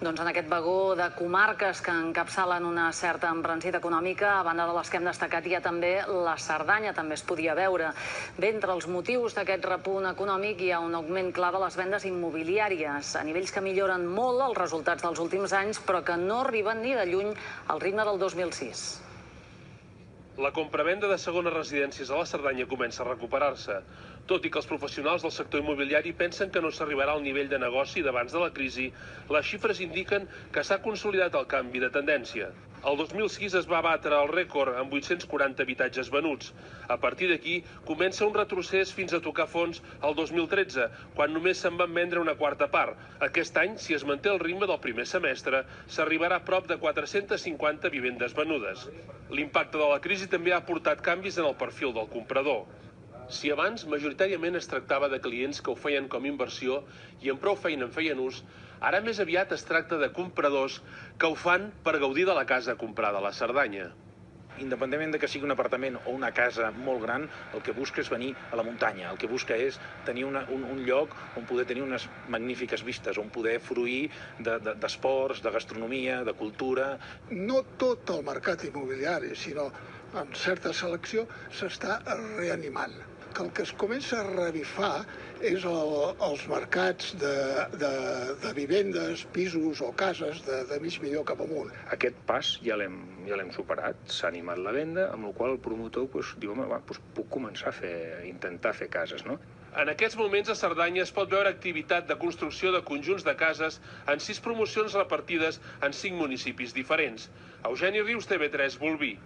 Doncs en aquest vagó de comarques que encapçalen una certa embranzida econòmica, a banda de les que hem destacat, hi ha també la Cerdanya, també es podia veure. Bé, entre els motius d'aquest repunt econòmic hi ha un augment clar de les vendes immobiliàries, a nivells que milloren molt els resultats dels últims anys, però que no arriben ni de lluny al ritme del 2006. La compravenda de segones residències a la Cerdanya comença a recuperar-se, tot i que els professionals del sector immobiliari pensen que no s'arribarà al nivell de negoci d'abans de la crisi. Les xifres indiquen que s'ha consolidat el canvi de tendència. El 2006 es va batre el rècord amb 840 habitatges venuts. A partir d'aquí comença un retrocés fins a tocar fons el 2013, quan només se'n van vendre una quarta part. Aquest any, si es manté el ritme del primer semestre, s'arribarà a prop de 450 vivendes venudes. L'impacte de la crisi també ha portat canvis en el perfil del comprador. Si abans majoritàriament es tractava de clients que ho feien com inversió i amb prou feina en feien ús, ara més aviat es tracta de compradors que ho fan per gaudir de la casa comprada a la Cerdanya. Independentment de que sigui un apartament o una casa molt gran, el que busca és venir a la muntanya, el que busca és tenir un lloc on poder tenir unes magnífiques vistes, on poder fruir d'esports, de gastronomia, de cultura. No tot el mercat immobiliari, sinó amb certa selecció, s'està reanimant. Que el que es comença a revifar és els mercats de vivendes, pisos o cases de mig milió cap amunt. Aquest pas ja l'hem superat, s'ha animat la venda, amb la qual el promotor diu, home, puc començar a intentar fer cases, no? En aquests moments a Cerdanya es pot veure activitat de construcció de conjunts de cases en 6 promocions repartides en 5 municipis diferents. Eugeni Rius, TV3, Bolvir.